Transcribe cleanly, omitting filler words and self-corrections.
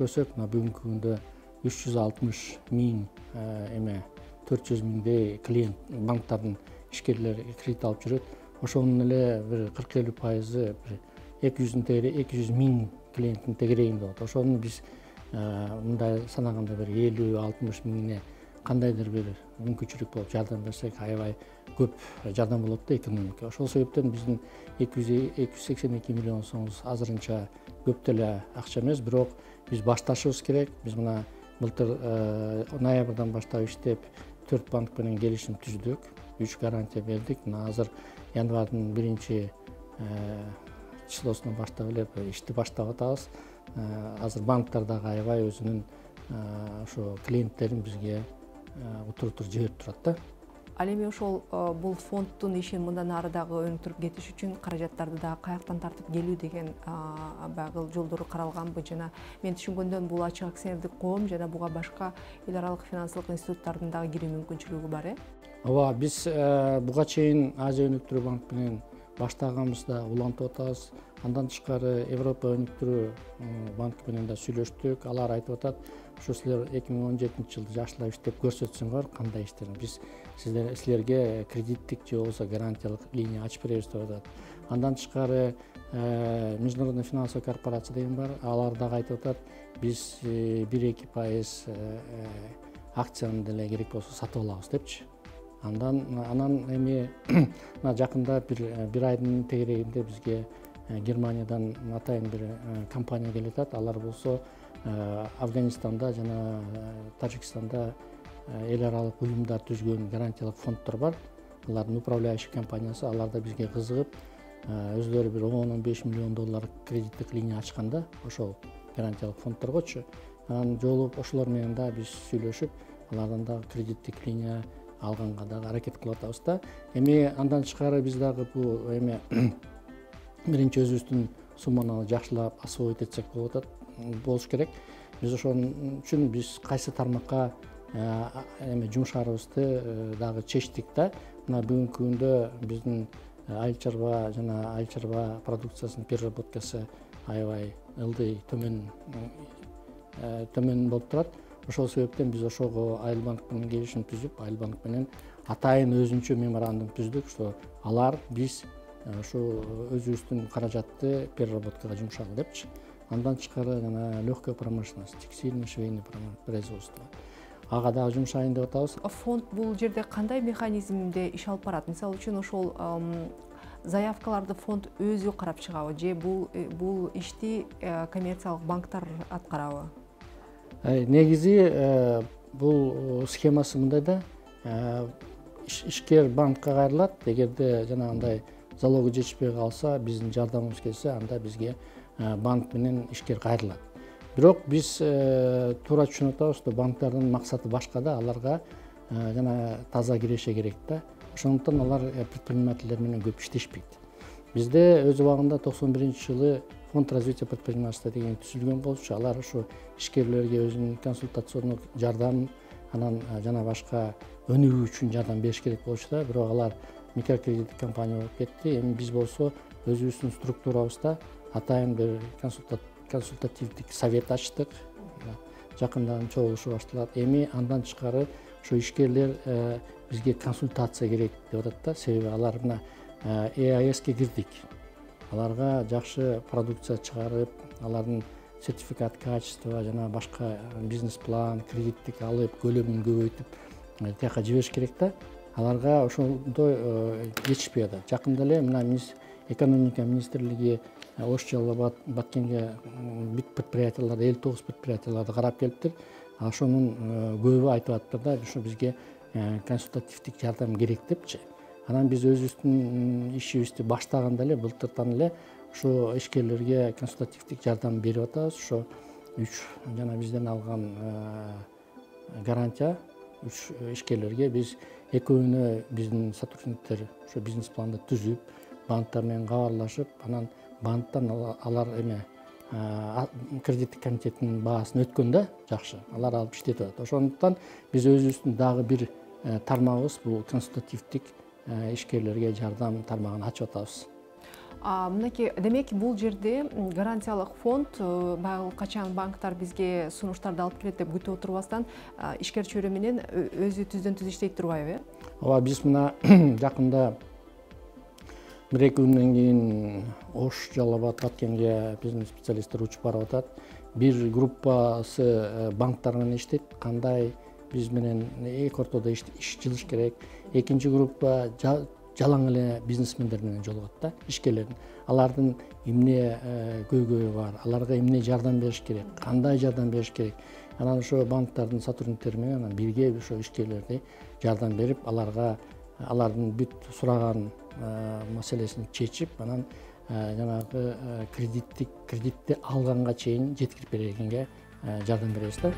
көрсөк, мына бүгүнкү күндө 360 миң 400 миңдей клиент банктардын ишкерлери кредит алып жүрөт. Ошонун эле бир 40-50% бир 200 миң клиенттин тегерегинде болот. Ошону биз мындай санаганда бир 50-60 миңине кандайдыр бир мүмкүнчүлүк болуп жардам берсек, аябай көп жардам болот да экономикага. Ошол себептен биздин 282 миллион сомубуз азырынча көп деле акча эмес, бирок биз башташыбыз керек. Биз мына былтыр ноябрдан баштап иштеп 4 банк менен келишим түздүк, 3 гарантия бердик. Мына азыр январдын 1 числосунан баштап эле ишти баштап атабыз. Азыр банктар дагы аябай өзүнүн ошо клиенттерин бизге утур жиберип турат да. Ал эми ошол бул фонддун ишин мындан ары дагы өнүктүрүп кетиш үчүн каражаттарды дагы каяктан тартып келүү деген багыл жолдору каралганбы? Жана мен түшүнгөндөн бул ачык акционердик коом жана буга башка эл аралык финансылык институттардын дагы кирүү мүмкүнчүлүгү бар, Ооба, биз буга чейин Азия өнүктүрүү банк менен баштаганыбызда улантып атабыз. Андан тышкары Европа өнүктүрүү банк менен да сүйлөштүк. Алар айтып атат, ошо силер 2017-жылды жакшылап иштеп көрсөтсөңөр кандай иштерин биз силерге кредиттик же болбосо гарантиялык линия ачып беребиз деп атат. Андан тышкары Международный финансовый корпорация деген бар. Алар дагы айтып атат, биз 1-2% акцияны деле керек болсо сатып алабыз депчи. Анан эми жакында бир айдын тегерегинде бизге Германиядан атайын бир компания келип атат. Алар болсо Афганистанда жана Тажикстанда эл аралык уюмдар түзгөн гарантиялык фонддор бар. Алардын управляющий компаниясы, алар да бизге кызыгып, өзлөрү бир 10-15 миллион доллар кредиттик линия ачканда ошол гарантиялык фонддоргочу. Анан жолугуп ошолор менен да биз сүйлөшүп, алардан да кредиттик линия алганга дагы аракет кылып атабыз да. Эми андан тышкары биз дагы бул биринчи өзүбүздүн сумманы жакшылап освоить этсек болуш керек. Биз ошон үчүн биз кайсы тармакка жумшаарыбызды дагы чечтик да. Мына бүгүнкү күндө биздин айыл чарба жана айыл чарба продукциясынын переработкасы аябай ылдый төмөн болуп турат. Ошол себептен биз ошого Айыл банк менен келишим түзүп, Айыл банк менен атайын өзүнчө меморандум түздүк, что алар биз ушу өзүбүздүн каражатты переработкага жумшагыла депчи. Андан тышкары жана легкая промышленность, текстильный, швейный производство. Ага дагы жумшайын деп атабыз. Фонд бул жерде кандай механизмде иш алып барат? Мисалы үчүн ошол заявкаларды фонд өзү карап чыгабы же бул ишти коммерциялык банктар аткарабы? Негизи бул схемасы мындай да, ишкер банкка кайрылат. Эгерде жанагындай залогу жетишпей калса, биздин жардамыбыз келсе, анда бизге банк менен ишкер кайрылат. Бирок биз туура түшүнүп атабыз, что банктардын максаты башка да, аларга жана таза киреше керек да. Ошондуктан алар предпринимательдер менен көп иштешпейт. Бизде өз убагында 91-жылы фонд развития предпринимательства деген түзүлгөн болчу. Алар ушу ишкерлерге өзүнүн консультациондук жардам, анан жана башка өнүгүү үчүн жардам бериш керек болчу да. Бирок алар микрокредиттик компания болуп кетти. Эми биз болсо өзүбүздүн структурабызда атайын бир консультативдик совет ачтык. Жакында чогулушу башталат. Эми андан тышкары ошо ишкерлер бизге консультация керек деп атат да. Себеби алар мына EAS-ке кирдик. Аларга жакшы продукция чыгарып, алардын сертификат качества жана башка бизнес план, кредиттик алып, көлөмүн көбөйтүп тияка жибериш керек да. Аларга ошондой жетишпей атат. Жакында эле мына экономика министрлиги Ош Жалал Баткенге бүт предприятияларды, 59 предприятияларды карап келиптир. Ошонун көбү айтып атыптыр да, ушу бизге консультативдик жардам керек депчи. Анан биз өзүбүздүн ишибизди баштаганда эле былтыртан эле ошо ишкерлерге консультативдик жардам берип атабыз. Ошо 3 жана бизден алган гарантия 3 ишкерлерге биз экөөнө биздин сотрудниктер ошо бизнес планды түзүп, банктар менен кабарлашып, анан банктан алар кредиттик комитеттин баасын өткөн да, жакшы. Алар алып иштетип атат. Ошондуктан биз өзүбүздүн дагы бир тармагыбыз бул консультативдик ишкерлерге жардам тармагын ачып атабыз. Мынакей, демек бул жерде гарантиялык фонд баягы качан банктар бизге сунуштарды алып келет деп күтүп отурбастан ишкер чөйрө менен өзү түздөн түз иштей турбайбы? Ооба, биз мына жакында 1-2 күндөн кийин Ош, Жалал Абад, Баткенге биздин специалисттер учуп барып атат. Бир группасы банктар менен иштейт, кандай биз менен эки ортодо иш жылыш керек. Экинчи группа жалаң эле бизнесмендер менен жолугат да, ишкерлердин. Алардын эмне көйгөйү бар, аларга эмне жардам бериш керек, кандай жардам бериш керек. Анан ошо банктардын сотрудниктери менен бирге ошо ишкерлерди жардам берип, алардын бүт сураган маселесин чечип, анан жанагы кредитти алганга чейин жеткирип бергенге жардам беребиз да.